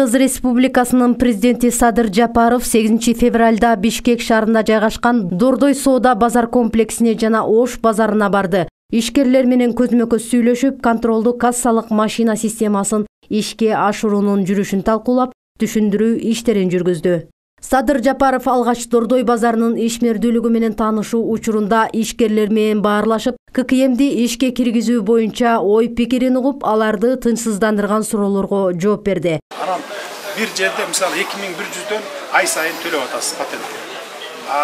Кыргыз Республикасынын президенти Садыр Жапаров 8 февралда Бишкек шаарында жайгашкан Дордой соода базар комплексине жана Ош базарына барды. Ишкерлер менен көзмө-көз сүйлөшүп, контролдуу кассалык машина системасын ишке ашыруунун жүрүшүн талкуулап, түшүндүрүү иштерин жүргүздү. Садыр Жапаров алгач Дордой базарынын ишмердүүлүгү менен таанышуу учурунда ишкерлер менен баарлашып, ККМди ишке киргизүү боюнча ой пикирин угуп, аларды тынчсыздандырган суроолорго жооп берди. Анан бир жерде мисалы 2100дөн ай сайын төлөп атасыз патентке.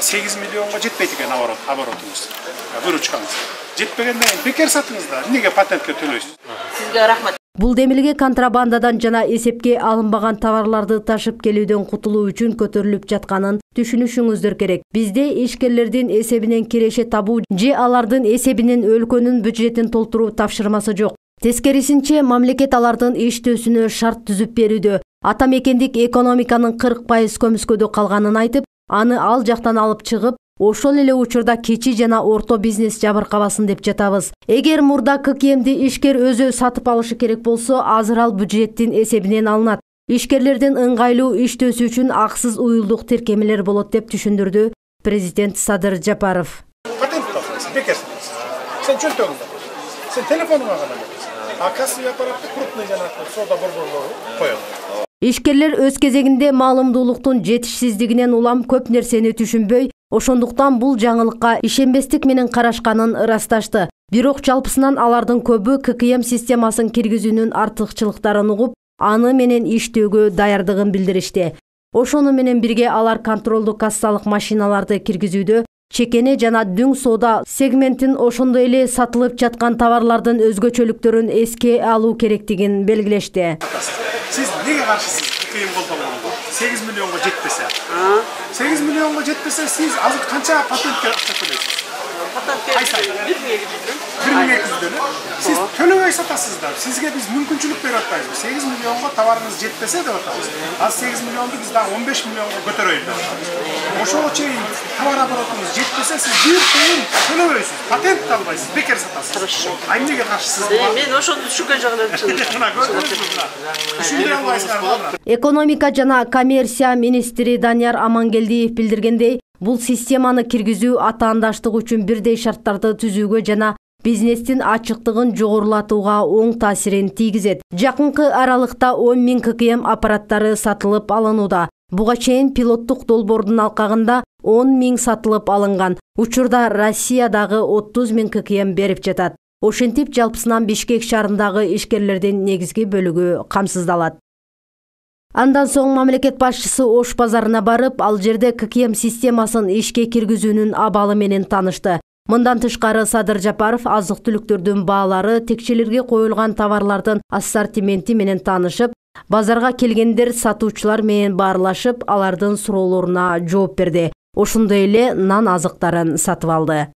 8 миллионго жетпейт экен оборотуңуз. Выручкаңыз. Жетпегенден кийин бекер сатыңыз да, эмнеге патентке төлөйсүз? Сизге рахмат. Бул демилге контрабандадан жана эсепке алынбаган товарларды ташып келүүдөн кутулуу үчүн көтөрүлүп жатканын түшүнүшүңүздөр керек. Бизде ишкерлердин эсебинен киреше табуу же алардын эсебинен өлкөнүн бюджетин толтуруу тапшырмасы жок. Тескерисинче, мамлекет алардын иштөөсүнө шарт түзүп берүүдө. Ата мекендик экономиканын 40% көмүскөдө калганын айтып, аны ал жактан алып чыгып, ошол эле учурда кичи жана орто бизнес жабыркабасын деп жатабыз. Эгер мурда ККМди ишкер өзү сатып алышы керек болсо, азыр ал бюджеттин эсебинен алынат. Ишкерлердин ыңгайлуу иштөөсү үчүн аксыз уюлдук тиркемелер болот деп түшүндүрдү президент Садыр Жапаров. Патент тапсырасың, бекер сатасың. Сен чөнтөгүңдө. Сен телефонуңа гана бересиң. Кассовый аппаратты крупный жанагы соода борборлору коет. Ишкерлер өз кезегинде маалымдуулуктун жетишсиздигинен улам көп нерсени түшүнбөй, ошондуктан бул жаңылыкка ишенбестик менен карашканын ырасташты. Бирок жалпысынан алардын көбү ККМ системасын киргизүүнүн артыкчылыктарын угуп, аны менен иштөөгө даярдыгын билдиришти. Ошону менен бирге алар контролдуу кассалык машиналарды киргизүүдө чекене жана дүң соода сегментин ошондой эле сатылып жаткан товарлардын өзгөчөлүктөрүн эске алуу керектигин белгилешти. Сиз неге каршысыз ККМ колдонгонго? 8 миллионго жетпесе. 8 миллионго жетпесе, сиз азыр канча патентке акча төлөйсүз? Патентке 1200дөн. Сиз төлөбөй сатасыздар. Сизге биз мүмкүнчүлүк берип атпайбызбы? 8 миллионго товарыңыз жетпесе деп атабыз. Az 8 миллионду биз дагы 15 миллионго көтөрөйүн деп атабыз. Ошого чейин товар оборотуңуз жетпесе, сиз бир тыйын төлөбөйсүз. Патент албайсыз, бекер сатасыз. Хорошо. Эмнеге каршысыз? Мен ошону түшүнгөн жагынан Түшүндүрө албайсыздар. Экономика жана коммерция министри Данияр Амангелдиев билдиргендей, бул системаны киргизүү атаандаштык үчүн бирдей шарттарды түзүүгө жана бизнестин ачыктыгын жогорулатууга оң таасирин тийгизет. Жакынкы аралыкта 10 000 ККМ аппараттары сатылып алынууда. Буга чейин пилоттук долбоордун алкагында 10 000 сатылып алынган. Учурда Россиядагы 30 000 ККМ берип жатат. Ошентип жалпысынан Бишкек шаарындагы ишкерлердин негизги бөлүгү камсыздалат. Андан соң мамлекет башчысы Ош базарына барып, ал жерде ККМ системасын ишке киргизүүнүн абалы менен таанышты. Мындан тышкары Садыр Жапаров азык-түлүктөрдүн баалары, текчелерге коюлган товарлардын ассортименти менен таанышып, базарга келгендер сатуучулар менен баарлашып, алардын суроолоруна жооп берди. Ошондой эле нан азыктарын сатып алды.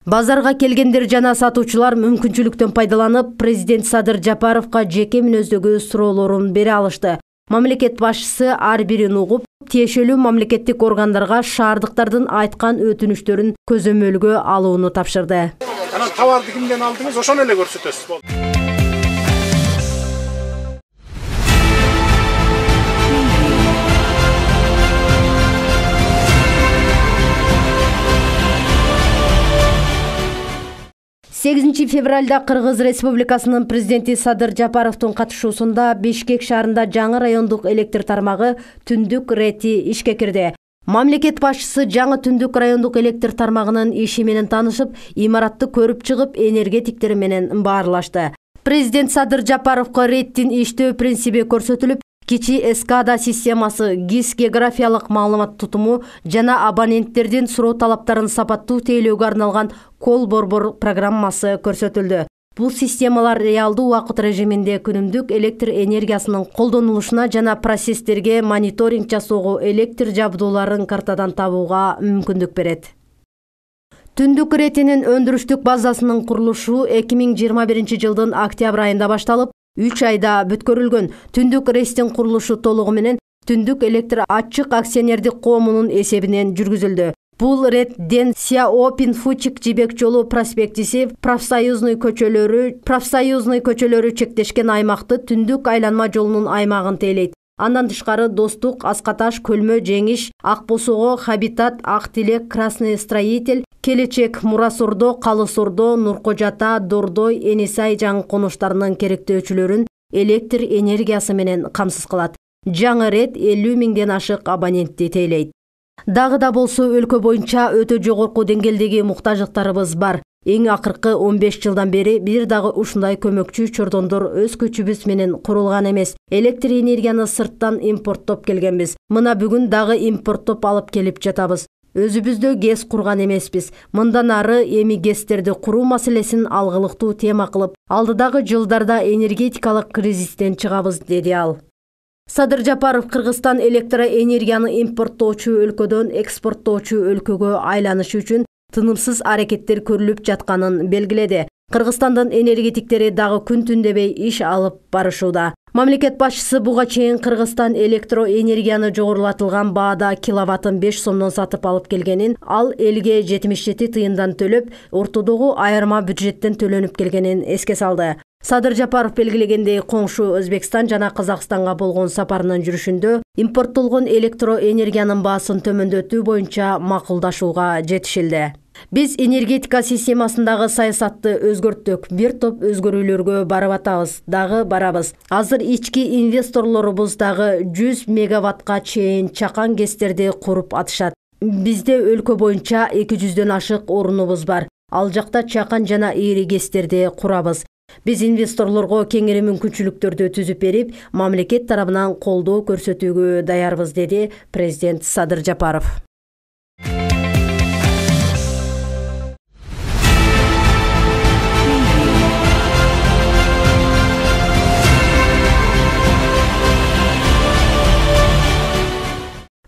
Базарга келгендер жана сатуучулар мүмкүнчүлүктөн пайдаланып, президент Садыр Жапаровго жеке мүнөздөгү суроолорун бере алышты. Мамлекет башчысы ар бирин угуп, тиешелүү мамлекеттик органдарга шаардыктардын айткан өтүнүштөрүн көзөмөлгө алууну тапшырды. Анан товарды кимден алдыңыз, ошону эле көрсөтөсүз. 8 февралда Кыргыз Республикасынын президенти Садыр Жапаровдун катышуусунда Бишкек шаарында жаңы райондук электр тармагы Түндүк РЭТи ишке кирди. Мамлекет башчысы жаңы Түндүк райондук электр тармагынын иши менен таанышып, имаратты көрүп чыгып, энергетиктер менен баарлашты. Президент Садыр Жапаровго РЭТтин иштөө принциби көрсөтүлүп, кичи эскада системасы, ГИС географиялык маалымат тутуму жана абоненттердин суроо талаптарын сапаттуу тейлөөгө арналган кол борбор программасы көрсөтүлдү. Бул системалар реалдуу убакыт режиминде күнүмдүк электр энергиясынын колдонулушуна жана процесстерге мониторинг жасоого, электр жабдууларын картадан табууга мүмкүндүк берет. Түндүк РЭТинин өндүрүштүк базасынын курулушу 2021 жылдын октябрь айында башталып, 3 айда бүткөрүлгөн. Түндүк РЭТтин курулушу толугу менен Түндүк электр ачык акционердик коомунун эсебинен жүргүзүлдү. Бул РЭТден Сяопин Фучик жибек жолу проспектиси, профсоюзный көчөлөрү чектешкен аймакты Түндүк айланма жолунун аймагын тейлейт. Андан тышкары Достук, Аскаташ, Көлмө, Жеңиш, Ак Босого, Хабитат, Ак Тилек, Красный Строитель, Келечек, Мурасордо, Калысордо, Нуркожата, Дордой, Энисай жаңы конуштарынын керектөөчүлөрүн электр энергиясы менен камсыз кылат. Жаңы рет 50 миңден ашык абонентти тейлейт. Дагы да болсо өлкө боюнча өтө жогорку деңгээлдеги муктаждыктарыбыз бар. Эң акыркы 15 жылдан бери бир дагы ушундай көмөкчү чордондор өз көчүбүз менен курулган эмес. Электр энергияны сырттан импорттоп келгенбиз. Мына бүгүн дагы импорттоп алып келип жатабыз. Өзүбүздө ГЭС курган эмеспиз. Мындан ары эми ГЭСтерди куруу маселесин алгылыктуу тема кылып, алдыдагы жылдарда энергетикалык кризистен чыгабыз, деди ал. Садыр Жапаров Кыргызстан электроэнергияны импорттоочу өлкөдөн экспорттоочу өлкөгө айланышы үчүн тынымсыз аракеттер көрүлүп жатканын белгиледи. Кыргызстандын энергетиктери дагы күн түн дебей иш алып барышууда. Мамлекет башчысы буга чейин Кыргызстан электроэнергияны жогорулатылган баада киловаттын 5 сомдон сатып алып келгенин, ал элге 77 тыйындан төлөп, ортодогу айырма бюджеттен төлөнүп келгенин эске салды. Садыр Жапаров белгилегендей, коңшу Өзбекстан жана Казакстанга болгон сапарынын жүрүшүндө импорттолгон электроэнергиянын баасын төмөндөтүү боюнча макулдашууга жетишилди. Биз энергетика системасындагы саясатты өзгөрттүк, бир топ өзгөрүүлөргө барып атабыз, дагы барабыз. Азыр ички инвесторлорубуз дагы 100 мегаваттка чейин чакан ГЭСтерди куруп атышат. Бизде өлкө боюнча 200дөн ашык орунубуз бар. Ал жакта чакан жана ири ГЭСтерди курабыз. Биз инвесторлорго кеңири мүмкүнчүлүктөрдү түзүп берип, мамлекет тарабынан колдоо көрсөтүүгө даярбыз, деди президент Садыр Жапаров.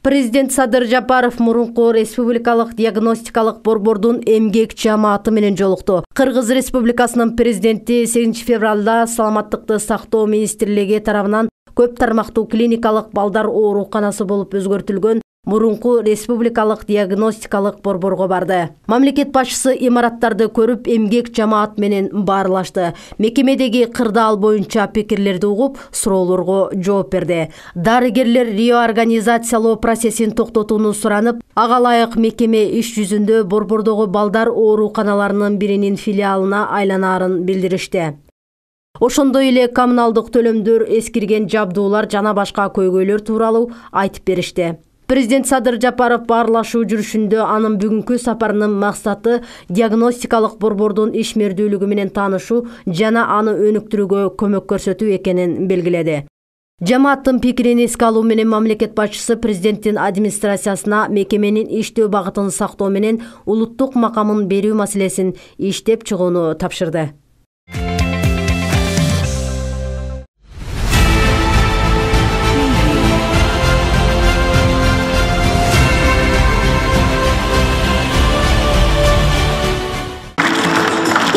Президент Садыр Жапаров мурунку республикалык диагностикалык борбордун эмгек жамааты менен жолукту. Кыргыз Республикасынын президенти 8 февралда Саламаттыкты сактоо министрлиги тарабынан көп тармактуу клиникалык балдар ооруканасы болуп өзгөртүлгөн мурунку республикалык диагностикалык борборго барды. Мамлекет башчысы имараттарды көрүп, эмгек жамаат менен баарлашты. Мекемедеги кырдаал боюнча пикирлерди угуп, суроолорго жооп берди. Дарыгерлер реорганизациялоо процессин токтотууну суранып, ага ылайык мекеме иш жүзүндө борбордогу балдар ооруканаларынын биринин филиалына айланаарын билдиришти. Ошондой эле коммуналдык төлөмдөр, эскирген жабдуулар жана башка көйгөйлөр тууралуу айтып беришти. Президент Садыр Жапаров баарлашуу жүрүшүндө анын бүгүнкү сапарынын максаты диагностикалык борбордун ишмердүүлүгү менен таанышуу жана аны өнүктүрүүгө көмөк көрсөтүү экенин белгиледи. Жамааттын пикирин эске алуу менен мамлекет башчысы президенттин администрациясына мекеменин иштөө багытын сактоо менен улуттук макамын берүү маселесин иштеп чыгууну тапшырды.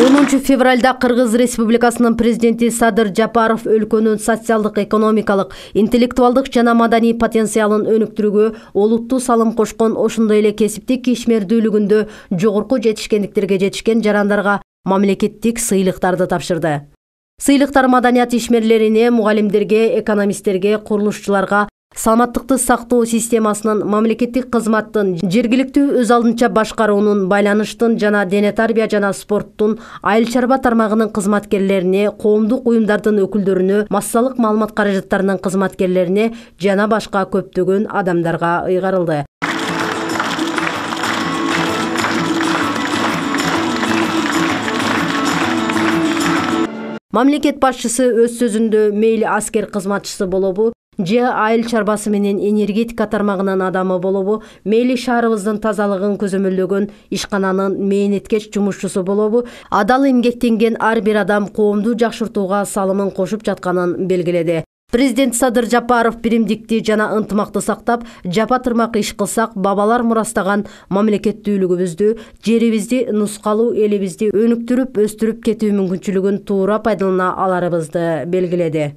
10 февралда Кыргыз Республикасынын президенти Садыр Жапаров өлкөнүн социалдык, экономикалык, интеллектуалдык жана маданий потенциалын өнүктүрүүгө олуттуу салым кошкон, ошондой эле кесиптик ишмердүүлүгүндө жогорку жетишкендиктерге жетишкен жарандарга мамлекеттик сыйлыктарды тапшырды. Сыйлыктар маданият ишмерлерине, мугалимдерге, экономисттерге, курулушчуларга, саламаттыкты сактоо системасынын, мамлекеттик кызматтын, жергиликтүү өз алдынча башкаруунун, байланыштын жана дене тарбия жана спорттун, айыл чарба тармагынын кызматкерлерине, коомдук уюмдардын өкүлдөрүнө, массалык маалымат каражаттарынын кызматкерлерине жана башка көптөгөн адамдарга ыйгарылды. Мамлекет башчысы өз сөзүндө мейли аскер кызматчысы болобу, же айыл чарбасы менен энергетика тармагынын адамы болобу, мейли шаарыбыздын тазалыгын көзөмөлдөгөн ишкананын мээнеткеч жумушчусу болобу, адал эмгектенген ар бир адам коомду жакшыртууга салымын кошуп жатканын белгиледи. Президент Садыр Жапаров биримдикти жана ынтымакты сактап, жапа тырмак иш кылсак, бабалар мурастаган мамлекеттүүлүгүбүздү, жерибизди, нускалуу элибизди өнүктүрүп, өстүрүп кетүү мүмкүнчүлүгүн туура пайдалана аларыбызды белгиледи.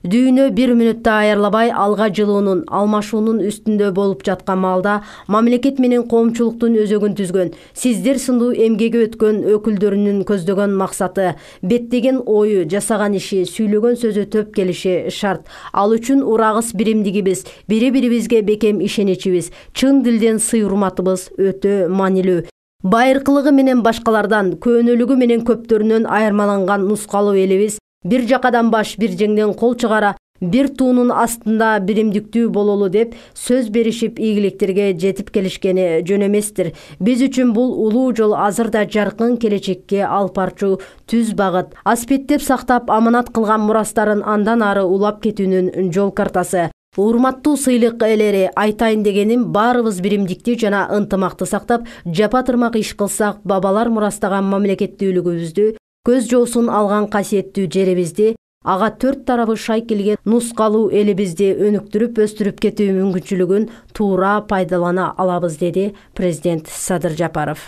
Дүйнө 1 мүнөттө аярлабай алга жылуунун, алмашуунун үстүндө болуп жаткан маалда мамлекет менен коомчулуктун өзөгүн түзгөн, сиздер сындуу эмгеги өткөн өкүлдөрүнүн көздөгөн максаты, беттеген ою, жасаган иши, сүйлөгөн сөзү төп келиши шарт. Ал үчүн урагыс биримдигибиз, бири-бирибизге бекем ишеничибиз, чын дилден сый-урматыбыз өтө маанилүү. Байыркылыгы менен башкалардан, көөнөлүгү менен көптөрүнөн айырмаланган нускалуу элибиз бир жакадан баш, бир жеңден кол чыгара, бир туунун астында биримдиктүү бололу деп сөз беришип ийгиликтерге жетип келишкени жөн эместир. Биз үчүн бул улуу жол азыр да жаркын келечекке алып барчу түз багыт. Аспеттеп сактап аманат кылган мурастарын андан ары улап кетүүнүн жол картасы. Урматтуу сыйлык ээлери, айтайын дегеним баарыбыз биримдикти жана ынтымакты сактап, жапа-тырмак иш кылсак, бабалар мурастаган мамлекеттүүлүгүбүздү, көз жоосун алган касиеттүү жерибизди, ага 4 тарабы шай келген нускалуу элибизди өнүктүрүп өстүрүп кетүү мүмкүнчүлүгүн туура пайдалана алабыз, деди президент Садыр Жапаров.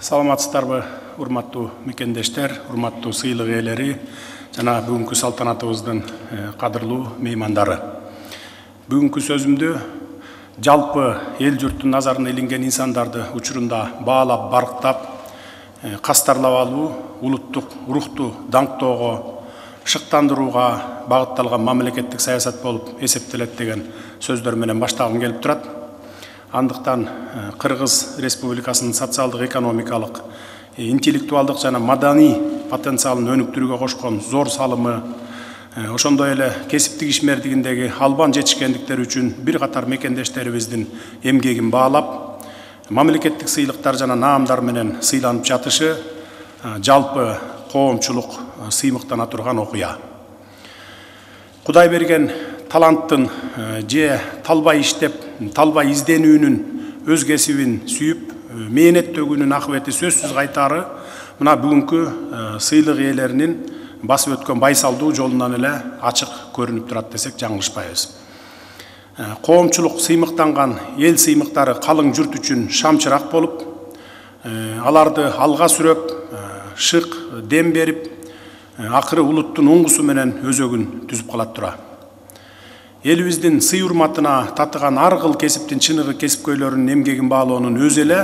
Саламатсыздарбы, урматтуу мекендештер, урматтуу сыйлык ээлери жана бүгүнкү салтанатыбыздын кадырлуу меймандары. Бүгүнкү сөзүмдү жалпы эл журттун назарына илинген инсандарды учурунда баалап, барктап, кастарлап алуу, улуттук рухту даңктоого, шыктандырууга багытталган мамлекеттик саясат болуп эсептелет деген сөздөр менен баштагым келип турат. Андыктан Кыргыз Республикасынын социалдык, экономикалык, интеллектуалдык жана маданий потенциалын өнүктүрүүгө кошкон зор салымы, ошондой эле кесиптик ишмердигиндеги албан жетишкендиктери үчүн бир катар мекендештерибиздин эмгегин баалап, мамлекеттик сыйлыктар жана наамдар менен сыйланып жатышы жалпы коомчулук сыймыктана турган окуя. Кудай берген таланттын же талбай иштеп, талбай изденүүнүн, өз кесибин сүйүп, мээнет төгүүнүн акыбети сөзсүз кайтаары мына бүгүнкү сыйлык ээлеринин басып өткөн байсалдуу жолунан эле ачык көрүнүп турат десек жаңылышпайбыз. Коомчулук сыймыктанган эл сыймыктары калың журт үчүн шамчырак болуп, аларды алга сүрөп, шык дем берип, акыры улуттун оңгусу менен өзөгүн түзүп калат тура. Элибиздин сый урматына татыган ар кыл кесиптин чыныгы кесипкөйлөрүнүн эмгегин баалоонун өзү эле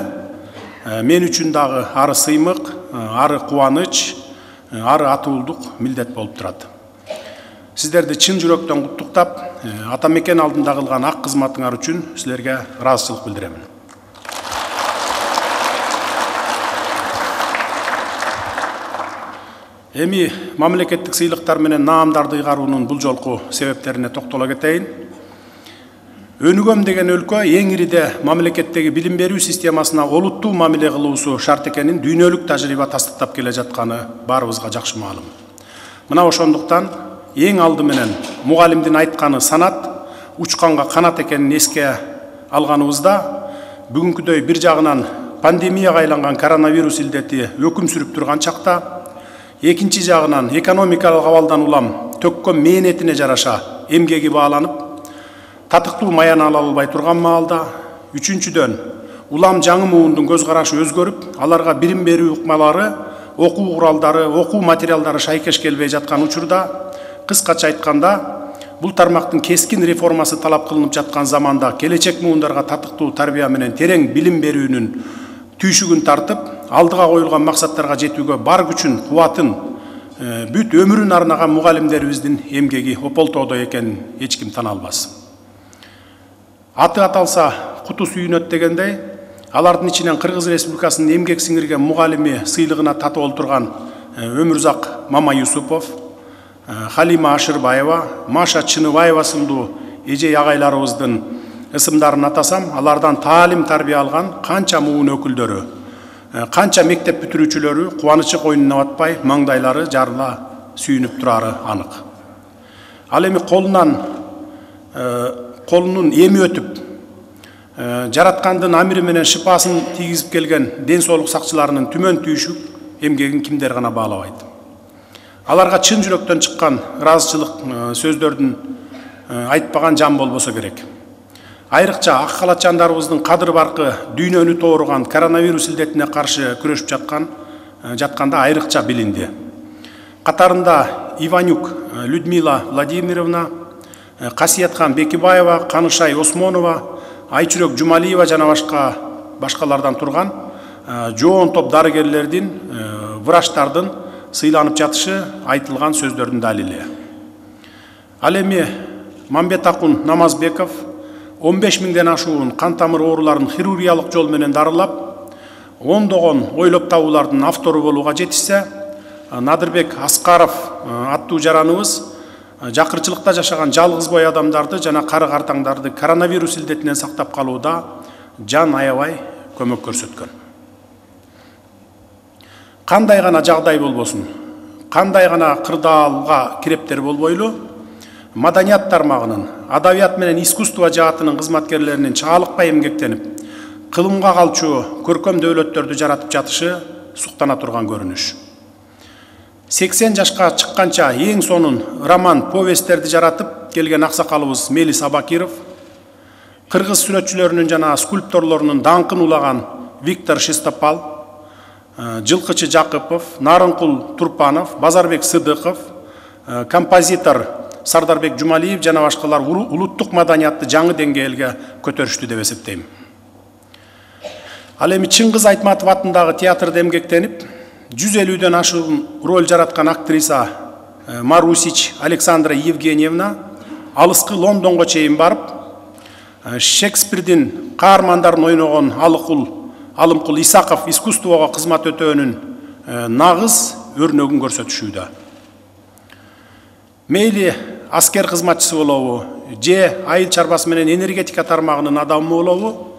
мен үчүн дагы ары сыймык, ары кубаныч, ары атуулдук милдет болуп турат. Сиздерди чын жүрөктөн куттуктап, ата мекен алдында кылган ак кызматыңар үчүн силерге ыраазычылык билдиремин. Эми мамлекеттик сыйлыктар менен наамдарды ыйгаруунун бул жолку себептерине токтоло кетейин. Өнүгөм деген өлкө эң ириде мамлекеттеги билим берүү системасына олуттуу мамиле кылуусу шарт экенин дүйнөлүк тажрыйба тастыктап келе жатканы баарыбызга жакшы маалым. Мына ошондуктан эң алды менен мугалимдин айтканы санат, учканга канат экенин эске алганыбызда, бүгүнкүдөй бир жагынан пандемияга айланган коронавирус илдети өкүм сүрүп турган чакта, экинчи жагынан экономикалык абалдан улам төккөн мээнетине жараша эмгеги бааланып, татыктуу маян ала албай турган маалда, үчүнчүдөн улам жаңы муундун көз карашы өзгөрүп, аларга билим берүү ыкмалары, окуу куралдары, окуу материалдары шайкеш келбей жаткан учурда, кыскача айтканда, бул тармактын кескин реформасы талап кылынып жаткан заманда келечек муундарга татыктуу тарбия менен терең билим берүүнүн түйшүгүн тартып, алдыга коюлган максаттарга жетүүгө бар күчүн, кубатын, бүт өмүрүн арнаган мугалимдерибиздин эмгеги ополтоодо экенин эч ким тана албас. Аты аталса куту сүйүнөт дегендей, алардын ичинен Кыргыз Республикасынын эмгек сиңирген мугалими сыйлыгына татып олтурган Өмүрзак Мама Юсупов, Халима Ашырбаева, Маша Чыныбаева сындуу эжей агайларыбыздын ысымдарын атасам, алардан таалим тарбия алган канча муун өкүлдөрү, канча мектеп бүтүрүүчүлөрү кубанычы койнуна батпай, маңдайлары жарыла сүйүнүп турары анык. Ал эми колунун эми өтүп, жараткандын амири менен шыпасын тийгизип келген ден соолук сакчыларынын түмөн түйшүк эмгегин кимдер гана баалабайт. Аларга чын жүрөктөн чыккан ыраазычылык сөздөрдүн айтпаган жан болбосо керек. Айрыкча ак калачандарыбыздын кадыр баркы дүйнөнү тооруган коронавирус илдетине каршы күрөшүп жатканда айрыкча билинди. Катарында Иванюк Людмила Владимировна, Касиетхан Бекибаева, Канышай Осмонова, Айчүрөк Жумалиева жана башкалардан турган жоон топ дарыгерлердин, врачтардын сыйланып жатышы айтылган сөздөрдүн далили. Ал эми Мамбетакун Намазбеков 15 миңден ашуун кан тамыр ооруларын хирургиялык жол менен дарылап, ондогон ойлоп табуулардын автору болууга жетишсе, Надырбек Аскаров аттуу жараныбыз жакырчылыкта жашаган жалгыз бой адамдарды жана кары картаңдарды коронавирус илдетинен сактап калууда жан аябай көмөк көрсөткөн. Кандай гана жагдай болбосун, кандай гана кырдаалга кирептер болбойлу, маданият тармагынын, адабият менен искусство жаатынын кызматкерлеринин чаалыкпай эмгектенип, кылымга калчу көркөм дөөлөттөрдү жаратып жатышы суктана турган көрүнүш. 80 жашка чыкканча эң сонун роман, повесттерди жаратып келген аксакалыбыз Мелис Абакиров, кыргыз сүрөтчүлөрүнүн жана скульпторлорунун даңкын улаган Виктор Шестопал, Жылкычы Жакыпов, Нарынкул Турпанов, Базарбек Сыдыков, композитор Сардарбек Жумалиев жана башкалар улуттук маданиятты жаңы деңгээлге көтөрүштү деп эсептейм. Ал эми Чыңгыз Айтматов атындагы театрда эмгектенип, 150ден ашуун роль жараткан актриса Марусич Александра Евгеньевна алыскы Лондонго чейин барып, Шекспирдин каармандарын ойногон Алымкул Исаков искусствого кызмат өтөөнүн нагыз өрнөгүн көрсөтүшүүдө. Мейли аскер кызматчысы болобу, же айыл чарбасы менен энергетика тармагынын адамы болобу,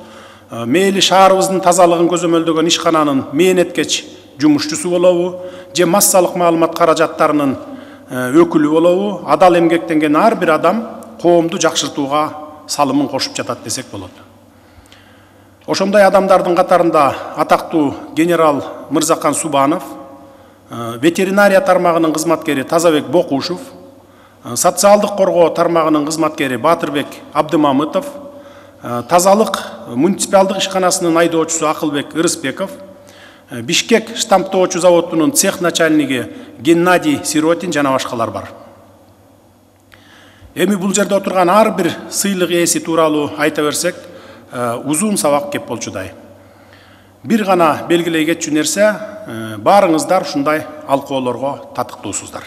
мейли шаарыбыздын тазалыгын көзөмөлдөгөн ишкананын мээнеткеч жумушчусу болобу, же массалык маалымат каражаттарынын өкүлү болобу, адал эмгектенген ар бир адам коомду жакшыртууга салымын кошуп жатат десек болот. Ошондой адамдардын катарында атактуу генерал Мырзакан Субанов, ветеринария тармагынын кызматкери Тазабек Бокушев, социалдык коргоо тармагынын кызматкери Батырбек Абдымамытов, тазалык муниципалдык ишканасынын айдоочусу Акылбек Ырысбеков, Бишкек штамптоочу заводунун цех начальниги Геннадий Сиротин жана башкалар бар. Эми бул жерде отурган ар бир сыйлык ээси тууралуу айта берсек, узун сабак кеп болчудай. Бир гана белгилей кетчү нерсе, баарыңыздар ушундай алкоолорго татыктуусуздар.